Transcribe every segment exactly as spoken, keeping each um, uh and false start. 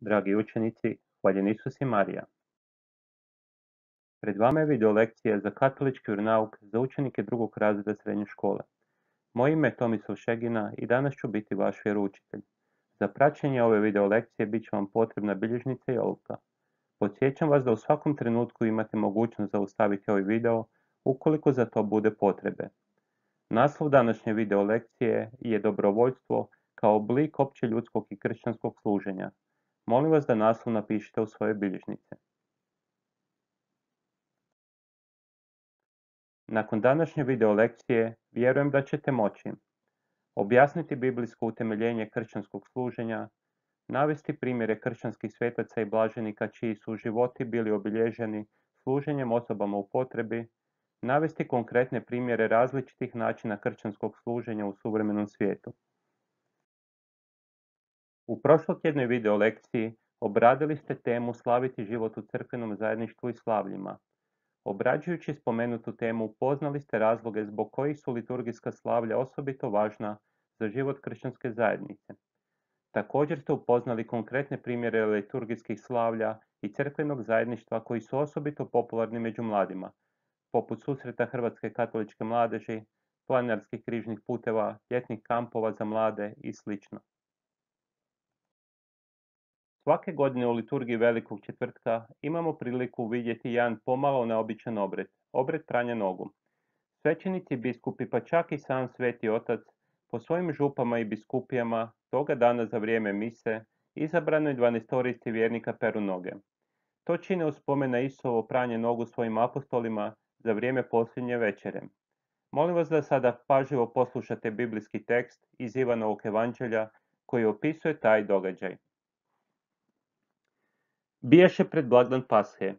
Dragi učenici, hvaljen Isus i Marija. Pred vama je video lekcija za katolički vjeronauk za učenike drugog razreda srednje škole. Moje ime je Tomislav Šegina i danas ću biti vaš vjeroučitelj. Za praćenje ove video lekcije bit će vam potrebna bilježnica i olovka. Podsjećam vas da u svakom trenutku imate mogućnost zaustaviti ovaj video ukoliko za to bude potrebe. Naslov današnje video lekcije je dobrovoljstvo kao oblik općeljudskog i kršćanskog služenja. Molim vas da naslov napišete u svoje bilježnice. Nakon današnje video lekcije vjerujem da ćete moći objasniti biblijsko utemeljenje kršćanskog služenja, navesti primjere kršćanskih svetaca i blaženika čiji su životi bili obilježeni služenjem osobama u potrebi, navesti konkretne primjere različitih načina kršćanskog služenja u suvremenom svijetu. U prošlotjednoj video lekciji obradili ste temu slaviti život u crkvenom zajedništvu i slavljima. Obrađujući spomenutu temu upoznali ste razloge zbog kojih su liturgijska slavlja osobito važna za život kršćanske zajednice. Također ste upoznali konkretne primjere liturgijskih slavlja i crkvenog zajedništva koji su osobito popularni među mladima, poput susreta Hrvatske katoličke mladeži, planinarskih križnih puteva, ljetnih kampova za mlade i sl. Svake godine u liturgiji Velikog četvrtka imamo priliku vidjeti jedan pomalo neobičan obred, obred pranja nogu. Svećenici, biskupi pa čak i sam Sveti Otac po svojim župama i biskupijama toga dana za vrijeme mise izabranoj dvanaestorici vjernika peru noge. To čine u spomen na Isusovo pranje nogu svojim apostolima za vrijeme posljednje večere. Molim vas da sada pažljivo poslušate biblijski tekst iz Ivanovog evanđelja koji opisuje taj događaj. Bijaše pred blagdan Pashe.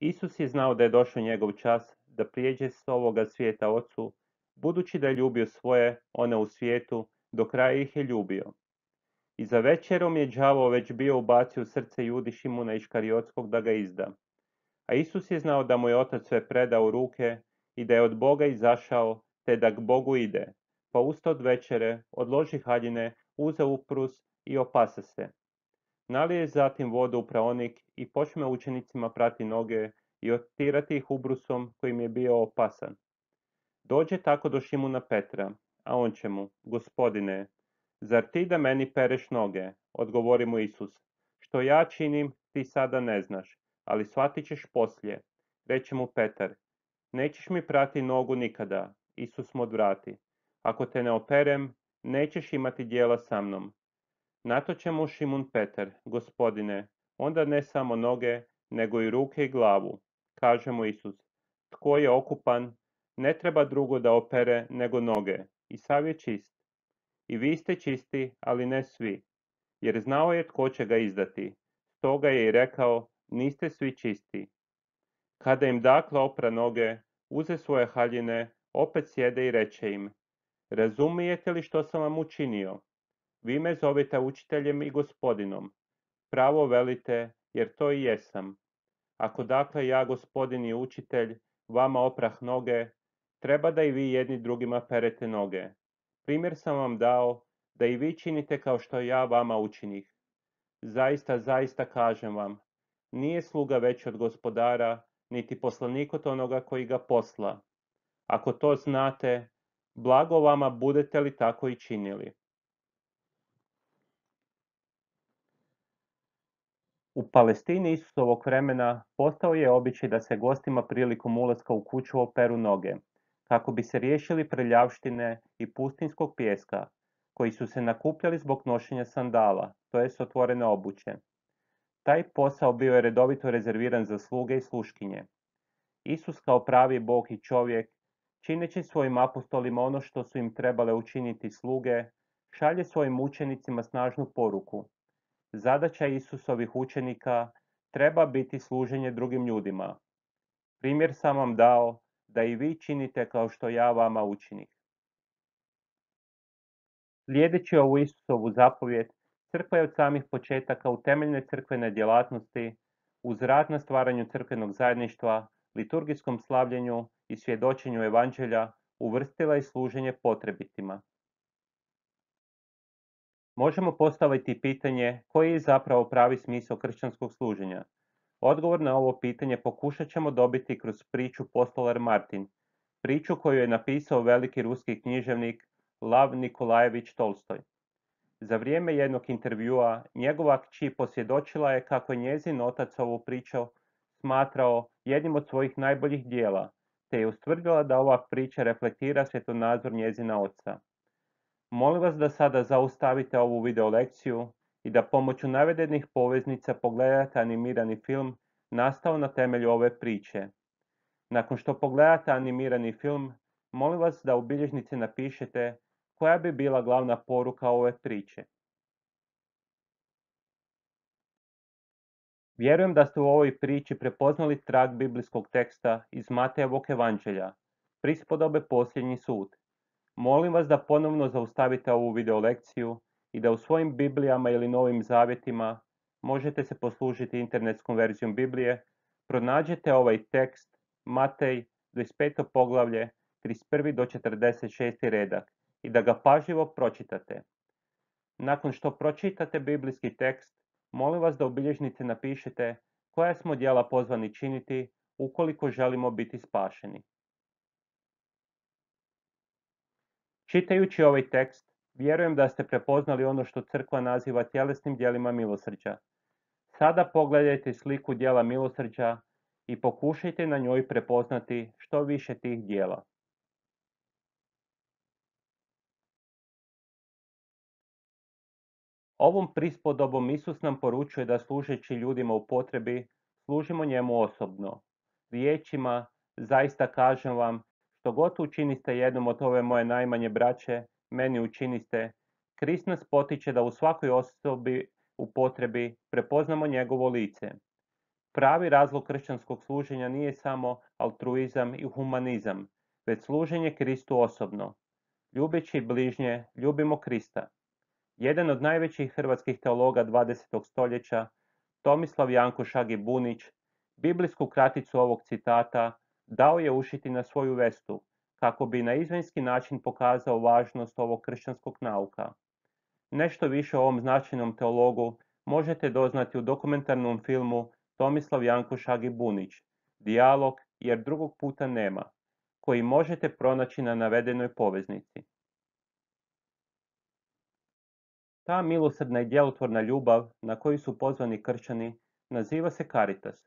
Isus je znao da je došao njegov čas da prijeđe s ovoga svijeta Ocu, budući da je ljubio svoje, one u svijetu, do kraja ih je ljubio. I za večerom je đavao već bio ubacio u srce Judi Šimuna Iškariotskog da ga izda. A Isus je znao da mu je Otac sve predao u ruke i da je od Boga izašao, te da k Bogu ide. Pa usta od večere, odloži haljine, uze uprus i opasa se. Nalije zatim vodu u praonik i počne učenicima prati noge i otirati ih ubrusom kojim je bio opasan. Dođe tako do Šimuna Petra, a on će mu, Gospodine, zar ti da meni pereš noge? Odgovori mu Isus, što ja činim ti sada ne znaš, ali shvatit ćeš poslije. Reče mu Petar, nećeš mi prati nogu nikada. Isus mu odvrati, ako te ne operem, nećeš imati djela sa mnom. Na to će mu Šimun Petar, Gospodine, onda ne samo noge, nego i ruke i glavu. Kaže mu Isus, tko je okupan, ne treba drugo da opere nego noge, i sav je čist. I vi ste čisti, ali ne svi, jer znao je tko će ga izdati. Stoga je i rekao, niste svi čisti. Kada im dakle opra noge, uze svoje haljine, opet sjede i reče im, razumijete li što sam vam učinio? Vi me zovete učiteljem i gospodinom. Pravo velite, jer to i jesam. Ako dakle ja, gospodin i učitelj, vama oprah noge, treba da i vi jedni drugima perete noge. Primjer sam vam dao, da i vi činite kao što ja vama učinih. Zaista, zaista kažem vam, nije sluga veći od gospodara, niti poslanik od onoga koji ga posla. Ako to znate, blago vama budete li tako i činili. U Palestini Isusovog vremena postao je običaj da se gostima prilikom ulaska u kuću operu noge, kako bi se riješili prljavštine i pustinskog pijeska, koji su se nakupljali zbog nošenja sandala, to jest otvorene obuće. Taj posao bio je redovito rezerviran za sluge i sluškinje. Isus kao pravi Bog i čovjek, čineći svojim apostolima ono što su im trebale učiniti sluge, šalje svojim učenicima snažnu poruku. Zadaća Isusovih učenika treba biti služenje drugim ljudima. Primjer sam vam dao da i vi činite kao što ja vama učinih. Slijedeći ovu Isusovu zapovjed, crkva je od samih početaka u temeljne crkvene djelatnosti, uz rad na stvaranju crkvenog zajedništva, liturgijskom slavljenju i svjedočenju evanđelja, uvrstila i služenje potrebitima. Možemo postaviti pitanje koji je zapravo pravi smisao kršćanskog služenja. Odgovor na ovo pitanje pokušat ćemo dobiti kroz priču Postolar Martin, priču koju je napisao veliki ruski književnik Lav Nikolajević Tolstoj. Za vrijeme jednog intervjua njegova kći posvjedočila je kako je njezin otac ovu priču smatrao jednim od svojih najboljih dijela, te je ustvrdila da ova priča reflektira svjetonazor njezina oca. Molim vas da sada zaustavite ovu video lekciju i da pomoću navedenih poveznica pogledate animirani film nastao na temelju ove priče. Nakon što pogledate animirani film, molim vas da u bilježnici napišete koja bi bila glavna poruka ove priče. Vjerujem da ste u ovoj priči prepoznali trag biblijskog teksta iz Matejevog evanđelja, prispodobe Posljednji sud. Molim vas da ponovno zaustavite ovu video lekciju i da u svojim Biblijama ili Novim zavjetima, možete se poslužiti internetskom verzijom Biblije, pronađete ovaj tekst, Matej, dvadeset peto poglavlje, trideset prvi do četrdeset šesti redak i da ga pažljivo pročitate. Nakon što pročitate biblijski tekst, molim vas da u bilježnici napišete koja smo djela pozvani činiti ukoliko želimo biti spašeni. Čitajući ovaj tekst, vjerujem da ste prepoznali ono što crkva naziva tjelesnim djelima milosrđa. Sada pogledajte sliku djela milosrđa i pokušajte na njoj prepoznati što više tih djela. Ovom prispodobom Isus nam poručuje da služeći ljudima u potrebi, služimo njemu osobno. Riječima, zaista kažem vam, što god učiniste jednom od ove moje najmanje braće, meni učiniste, Krist nas potiče da u svakoj osobi u potrebi prepoznamo njegovo lice. Pravi razlog kršćanskog služenja nije samo altruizam i humanizam, već služenje Kristu osobno. Ljubeći bližnje, ljubimo Krista. Jedan od najvećih hrvatskih teologa dvadesetog stoljeća, Tomislav Janko Šagi Bunić, biblijsku kraticu ovog citata dao je ušiti na svoju vestu, kako bi na izvanjski način pokazao važnost ovog kršćanskog nauka. Nešto više o ovom značajnom teologu možete doznati u dokumentarnom filmu Tomislav Janko Šagi Bunić, Dijalog jer drugog puta nema, koji možete pronaći na navedenoj poveznici. Ta milosrdna i djelotvorna ljubav na koju su pozvani kršćani naziva se caritas.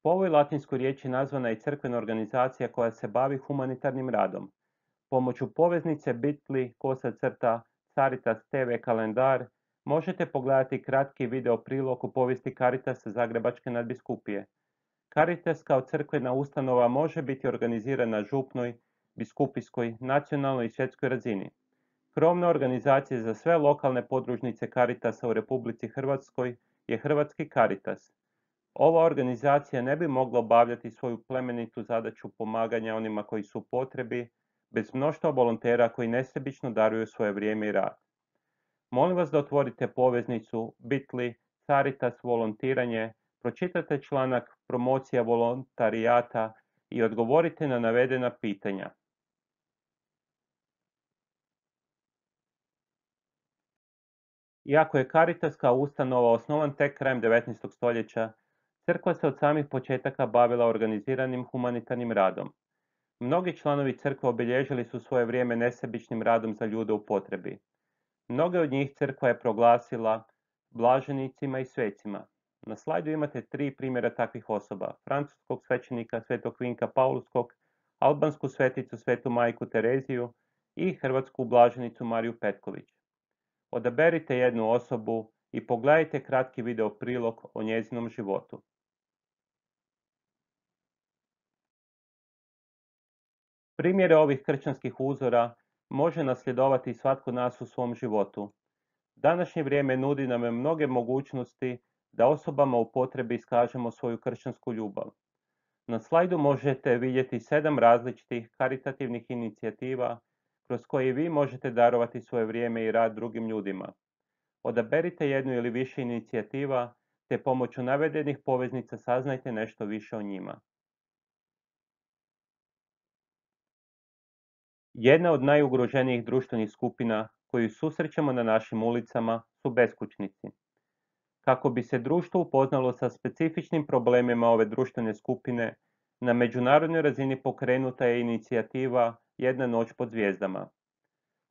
Po ovoj latinskoj riječi nazvana je crkvena organizacija koja se bavi humanitarnim radom. Pomoću poveznice bit.ly kosa crta Caritas te ve kalendar možete pogledati kratki video prilog u povijesti Caritasa Zagrebačke nadbiskupije. Caritas kao crkvena ustanova može biti organizirana na župnoj, biskupijskoj, nacionalnoj i svjetskoj razini. Krovna organizacija za sve lokalne podružnice Caritasa u Republici Hrvatskoj je Hrvatski Caritas. Ova organizacija ne bi mogla obavljati svoju plemenitu zadaću pomaganja onima koji su u potrebi, bez mnoštva volontera koji nesebično daruju svoje vrijeme i rad. Molim vas da otvorite poveznicu bit.ly Caritas volontiranje, pročitate članak Promocija volontarijata i odgovorite na navedena pitanja. Iako je Caritas kao ustanova osnovan tek krajem devetnaestog stoljeća, crkva se od samih početaka bavila organiziranim humanitarnim radom. Mnogi članovi crkve obilježili su svoje vrijeme nesebičnim radom za ljude u potrebi. Mnoge od njih crkva je proglasila blaženicima i svecima. Na slajdu imate tri primjera takvih osoba: francuskog svećenika svetog Vinka Paulskog, albansku sveticu svetu majku Tereziju i hrvatsku blaženicu Mariju Petković. Odaberite jednu osobu i pogledajte kratki video prilog o njezinom životu. Primjere ovih kršćanskih uzora može nasljedovati svatko od nas u svom životu. Današnje vrijeme nudi nam mnoge mogućnosti da osobama u potrebi iskažemo svoju kršćansku ljubav. Na slajdu možete vidjeti sedam različitih karitativnih inicijativa kroz koje vi možete darovati svoje vrijeme i rad drugim ljudima. Odaberite jednu ili više inicijativa, te pomoću navedenih poveznica saznajte nešto više o njima. Jedna od najugroženijih društvenih skupina koju susrećemo na našim ulicama su beskućnici. Kako bi se društvo upoznalo sa specifičnim problemima ove društvene skupine, na međunarodnoj razini pokrenuta je inicijativa Jedna noć pod zvijezdama.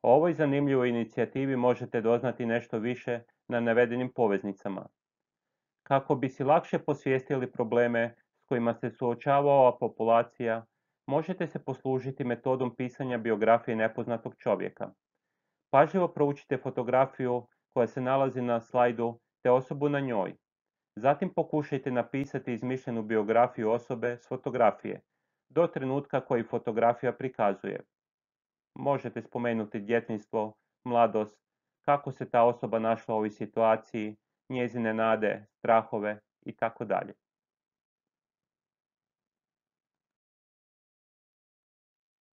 O ovoj zanimljivoj inicijativi možete doznati nešto više na navedenim poveznicama. Kako bi si lakše posvijestili probleme s kojima se suočava ova populacija, možete se poslužiti metodom pisanja biografije nepoznatog čovjeka. Pažljivo proučite fotografiju koja se nalazi na slajdu te osobu na njoj. Zatim pokušajte napisati izmišljenu biografiju osobe s fotografije, do trenutka koji fotografija prikazuje. Možete spomenuti djetinjstvo, mladost, kako se ta osoba našla u ovoj situaciji, njezine nade, strahove itd.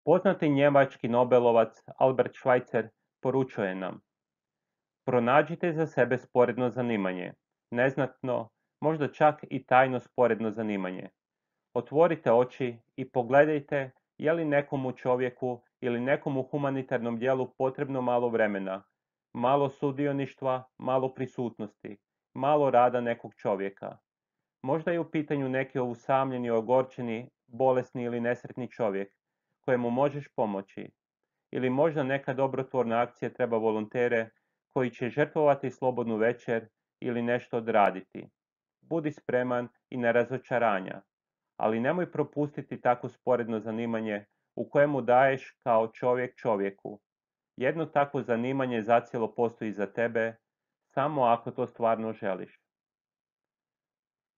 Poznati njemački nobelovac Albert Schweitzer poručuje nam: pronađite za sebe sporedno zanimanje, neznatno, možda čak i tajno sporedno zanimanje. Otvorite oči i pogledajte je li nekomu čovjeku ili nekomu humanitarnom djelu potrebno malo vremena, malo sudioništva, malo prisutnosti, malo rada nekog čovjeka. Možda je u pitanju neki usamljeni, ogorčeni, bolesni ili nesretni čovjek kojemu možeš pomoći. Ili možda neka dobrotvorna akcija treba volontere koji će žrtvovati slobodnu večer ili nešto odraditi. Budi spreman i na razočaranja, ali nemoj propustiti tako sporedno zanimanje u kojemu daješ kao čovjek čovjeku. Jedno takvo zanimanje zacijelo postoji za tebe, samo ako to stvarno želiš.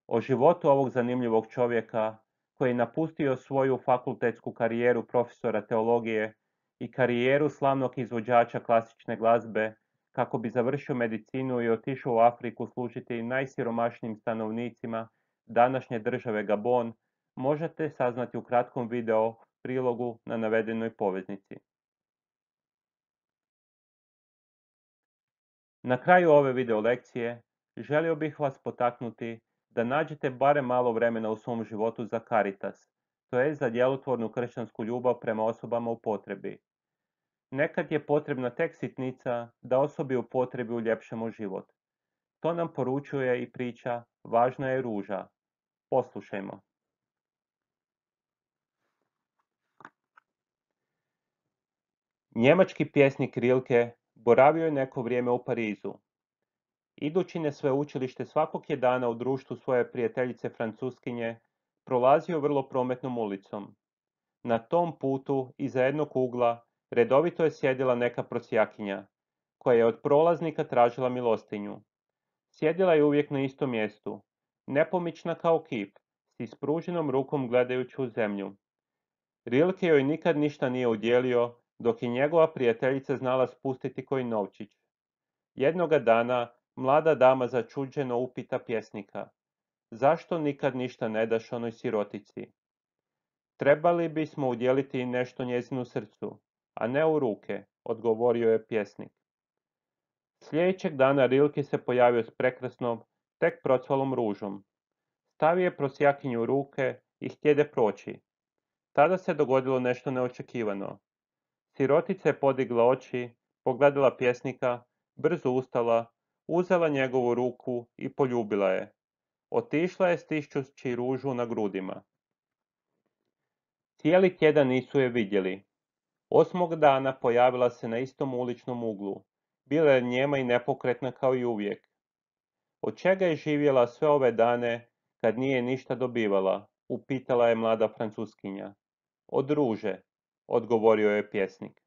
O životu ovog zanimljivog čovjeka, koji je napustio svoju fakultetsku karijeru profesora teologije i karijeru slavnog izvođača klasične glazbe, kako bi završio medicinu i otišao u Afriku služiti najsiromašnijim stanovnicima današnje države Gabon, možete saznati u kratkom video prilogu na navedenoj poveznici. Na kraju ove video lekcije želio bih vas potaknuti da nađete barem malo vremena u svom životu za Caritas, to je za djelotvornu kršćansku ljubav prema osobama u potrebi. Nekad je potrebna tek sitnica da osobi u potrebi uljepšamo život. To nam poručuje i priča Važna je ruža. Poslušajmo. Njemački pjesnik Rilke boravio je neko vrijeme u Parizu. Idući na sveučilište svakog je dana u društvu svoje prijateljice Francuskinje, prolazio vrlo prometnom ulicom. Na tom putu, iza jednog ugla, redovito je sjedila neka prosjakinja, koja je od prolaznika tražila milostinju. Sjedila je uvijek na istom mjestu, nepomična kao kip, s ispruženom rukom gledajući u zemlju. Rilke joj nikad ništa nije udjelio, dok je njegova prijateljica znala spustiti koji novčić. Jednoga dana mlada dama začuđeno upita pjesnika: zašto nikad ništa ne daš onoj sirotici? Trebali bismo udjeliti nešto njezinu srcu, a ne u ruke, odgovorio je pjesnik. Sljedećeg dana Rilke se pojavio s prekrasnom, tek procvalom ružom. Stavio je prosjakinju u ruke i htjede proći. Tada se dogodilo nešto neočekivano. Sirotica je podigla oči, pogledala pjesnika, brzo ustala, uzela njegovu ruku i poljubila je. Otišla je stišćući ružu na grudima. Cijeli tjedan nisu je vidjeli. Osmog dana pojavila se na istom uličnom uglu. Bila je njema i nepokretna kao i uvijek. Od čega je živjela sve ove dane kad nije ništa dobivala, upitala je mlada Francuskinja. Od ruže, odgovorio je pjesnik.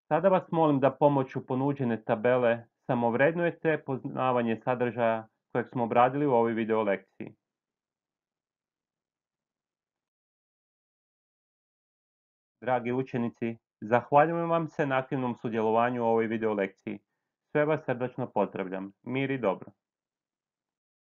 Sada vas molim da pomoću ponuđene tabele samovrednujete poznavanje sadržaja kojeg smo obradili u ovoj video lekciji. Dragi učenici, zahvaljujem vam se na aktivnom sudjelovanju u ovoj video lekciji. Sve vas srdačno pozdravljam. Mir i dobro.